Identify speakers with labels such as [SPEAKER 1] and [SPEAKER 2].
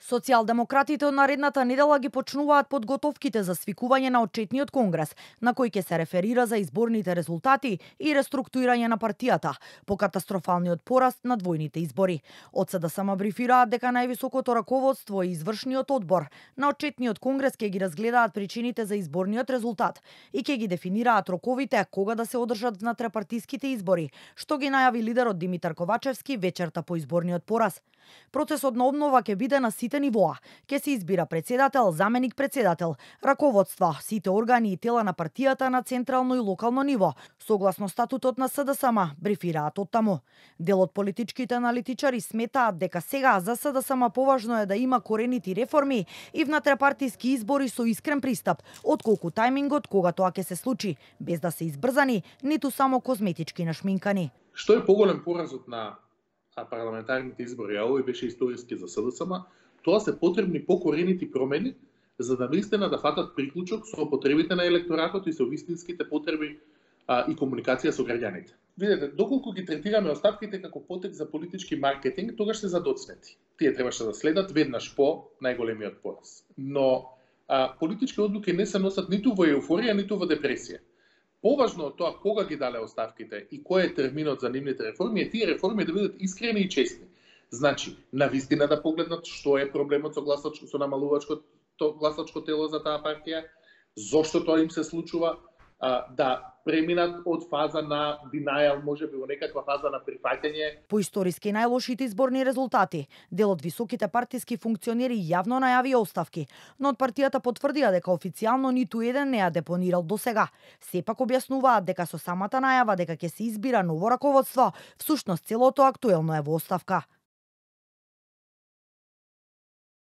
[SPEAKER 1] Социјалдемократите од наредната недела ги почнуваат подготовките за свикување на отчетниот конгрес, на кој ќе се реферира за изборните резултати и реструктурирање на партијата по катастрофалниот пораст на двојните избори. Од СДСМ брифираат дека највисокото раководство и извршниот одбор на отчетниот конгрес ќе ги разгледаат причините за изборниот резултат и ќе ги дефинираат роковите кога да се одржат внатрепартиските избори, што ги најави лидерот Димитар Ковачевски вечерта по изборниот пораз. Процесот на обнова ќе биде на сите нивоа. Ќе се избира председател, заменик председател, раководства, сите органи и тела на партијата на централно и локално ниво, согласно статутот на СДСМ, брифираат оттаму. Дел од политичките аналитичари сметаат дека сега за СДСМ поважно е да има коренити реформи и внатрепартиски избори со искрен пристап, отколку тајмингот кога тоа ќе се случи, без да се избрзани, ниту само козметички нашминкани.
[SPEAKER 2] Што е поголем поразот на парламентарните избори, а овој беше историски за СДСМ, тоа се потребни покоренити промени за да наистина да фатат приклучок со потребите на електоратот и со вистинските потреби и комуникација со граѓаните. Видете, доколку ги третираме оставките како потек за политички маркетинг, тогаш се задоцнети. Тие требаше да следат веднаш по најголемиот пораз. Но политички одлуки не се носат ниту во еуфорија, ниту во депресија. Поважно од тоа кога ги дале оставките и кој е терминот за нивните реформи е тие реформи да бидат искрени и честни. Значи, на вистина да погледнат што е проблемот со намалувачкото гласачко тело за таа партија, зошто тоа им се случува, да преминат од фаза на denial, можеби во некаква фаза на прифаќање.
[SPEAKER 1] По историски најлошите изборни резултати, дел од високите партиски функционери јавно најавија оставки, но од партијата потврдија дека официјално ниту еден не ја депонирал досега. Сепак објаснуваат дека со самата најава дека ќе се избира ново раководство, всушност целото актуелно е во оставка.